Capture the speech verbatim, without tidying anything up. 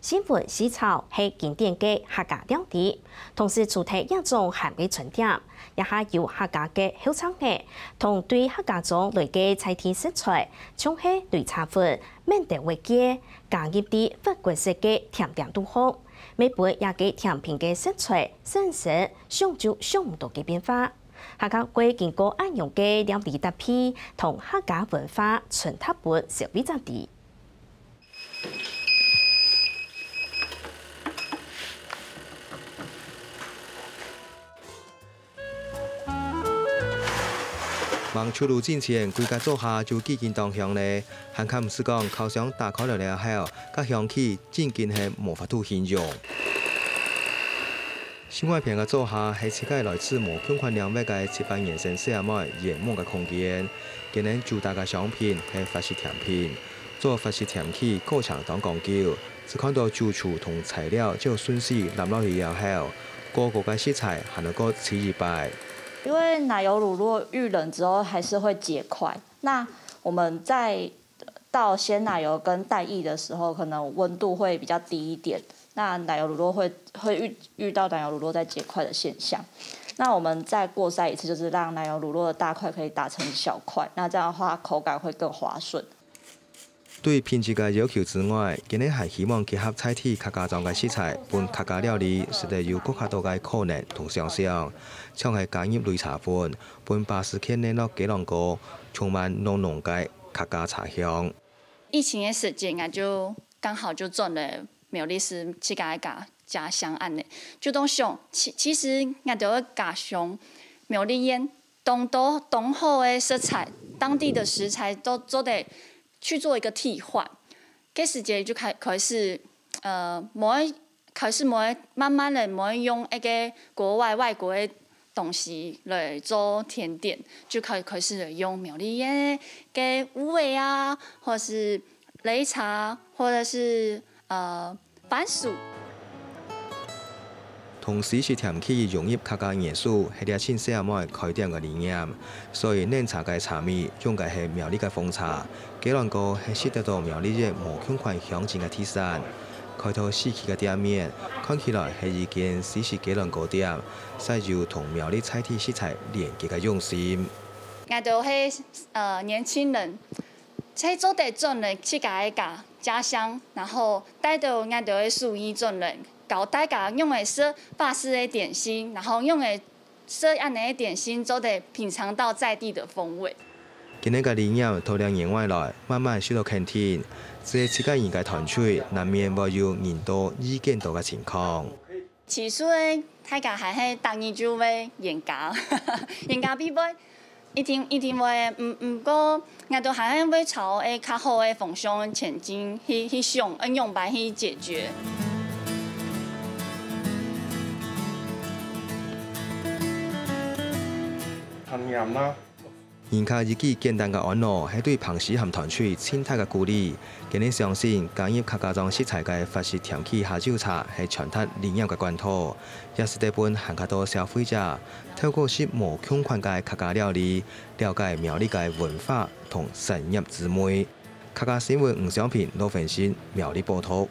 新聞、西炒係經典个客家料理，同時除忒這種鹹个春點，也還有客家个後生仔，同對客家庄來个在地食材，像係擂茶粉、 免得會結，加入在法國式个甜點肚項，乜分這个甜品个色彩、產生想就想毋到个變化。客家會經過恁樣个料理搭配，同客家文化傳達分消費者知。 吂出爐進前，歸家灶下就既經當香咧。還較毋使講，烤箱打開來了後，該香氣真經係無法度形容。新外片个灶下係自家來自無共款領域个七八年生細阿妹圓夢个空間。今日主打个商品係法式甜品，做法式甜品過程當講究， 只看到主廚同材料照順序摻落去了後，過高个食材還愛過試一擺。因為奶油乳酪遇冷之後還是會結塊，那我們在倒鮮奶油跟代液的時候，可能溫度會比較低一點，那奶油乳酪會會遇遇到奶油乳酪在結塊的現象。那我們再過篩一次，就是讓奶油乳酪的大塊可以打成小塊，那這樣的話口感會更滑順。 對品質个要求之外，今日還希望結合在地客家庄个食材，分客家料理食得有更加多个可能同想像，像係加入擂茶粉，分巴斯克乳酪雞卵糕，充滿濃濃个客家茶香。疫情个時節，𠊎就剛好就轉了苗栗市自家个家家鄉恁呢，就當想，其其實𠊎兜个家鄉苗栗縣 當多當好个食材，當地的食材都做得去做一個替換。該時節就開開始，呃，無愛開始無愛慢慢个無愛用一個國外外國个東西來做甜點，就開開始用苗栗个个烏魚啊，或是擂茶，或者是呃 番薯。同西式甜品融入客家元素，係這陣細阿妹開店个理念。所以奶茶个茶米用个係苗栗个紅茶，雞卵糕係食得到苗栗个無共款鄉鎮个特產。開到市區个店面，看起來係一間西式雞卵糕店，煞有同苗栗在地食材連結个用心。 𠊎兜係呃年輕人，係做得轉來自家个家家鄉，然後帶到𠊎兜个手藝轉來，教大家用个食法式个點心，然後用个食恁呢个點心，做得品嚐到在地的風味。今日个理念，頭兩年外來，慢慢受到肯定，只係自家人个團隊，難免會有人多意見多个情況。 起初个大家還係逐日就會冤家，冤家必會，一定一定會。毋毋過，𠊎兜還係會朝个較好个方向前進，去去想，愛仰般去解決。人客一句簡單个安好，係對彭詩涵團隊盡大个鼓勵。今日相信，加入客家庄食材个法式甜品下酒茶，係傳達理念个管道，也使得分還較多消費者透過食無共款个客家料理，了解苗栗个文化同產業之美。客家新聞吳湘萍、羅文新，苗栗報導。